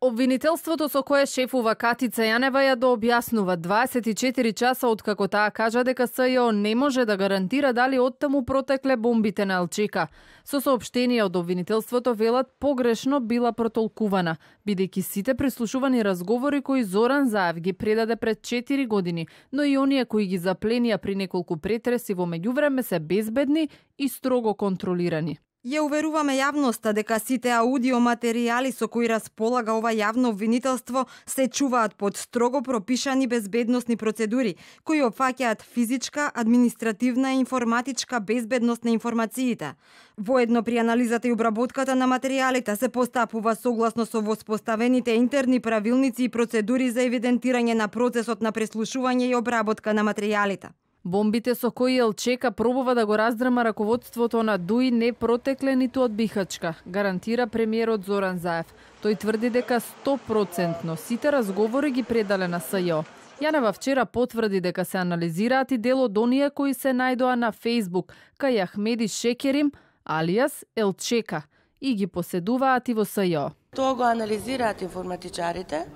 Обвинителството со кое шефува Катица Јанева ја дообјаснува 24 часа откако таа кажа дека СЈО не може да гарантира дали оттаму протекле бомбите на ЛЧК. Со соопштение од обвинителството велат погрешно била протолкувана, бидејќи сите прислушувани разговори кои Зоран Заев ги предаде пред 4 години, но и оние кои ги запленија при неколку претреси во меѓувреме се безбедни и строго контролирани. Ја уверуваме јавноста дека сите аудиоматеријали со кои располага ова јавно обвинителство се чуваат под строго пропишани безбедносни процедури, кои опфаќаат физичка, административна и информатичка безбедност на информациите. Воедно при анализата и обработката на материјалите се постапува согласно со воспоставените интерни правилници и процедури за евидентирање на процесот на преслушување и обработка на материјалите. Бомбите со кои ЛЧК пробува да го раздрма раководството на ДУИ не протекле ниту од Бихачка, гарантира премиерот Зоран Заев. Тој тврди дека 100% сите разговори ги предале на СЈО. Јанева вчера потврди дека се анализираат и дел од оние кои се најдоа на Фејсбук, кај Ахмеди Шекерим, алијас ЛЧК, и ги поседуваат и во СЈО. Тоа го анализираат информатичарите.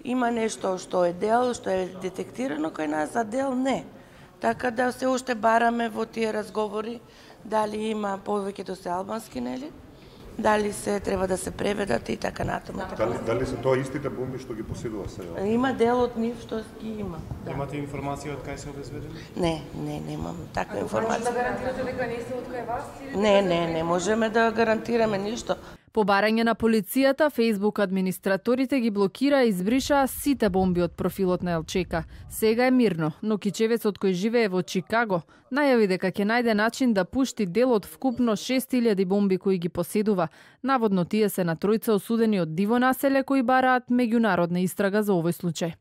Има нешто што е дел, што е детектирано кај нас, а дел не. Така да се уште бараме во тие разговори дали има повеќето се албански, нели? Дали се треба да се преведат и така натаму. Дали се тоа истите бомби што ги поседува СЈО? Има дел од нив што ги има. Да. Имате информација од кај се обезбедени? Не, немам таква информација. Може да гарантирате дека не се од кај вас? Не можеме да гарантираме ништо. По барање на полицијата, Фејсбук администраторите ги блокира и избришаа сите бомби од профилот на ЛЧК. Сега е мирно, но кичевецот кој живее во Чикаго најави дека ќе најде начин да пушти дел од вкупно 6000 бомби кои ги поседува. Наводно тие се на тројца осудени од диво населе кои бараат меѓународна истрага за овој случај.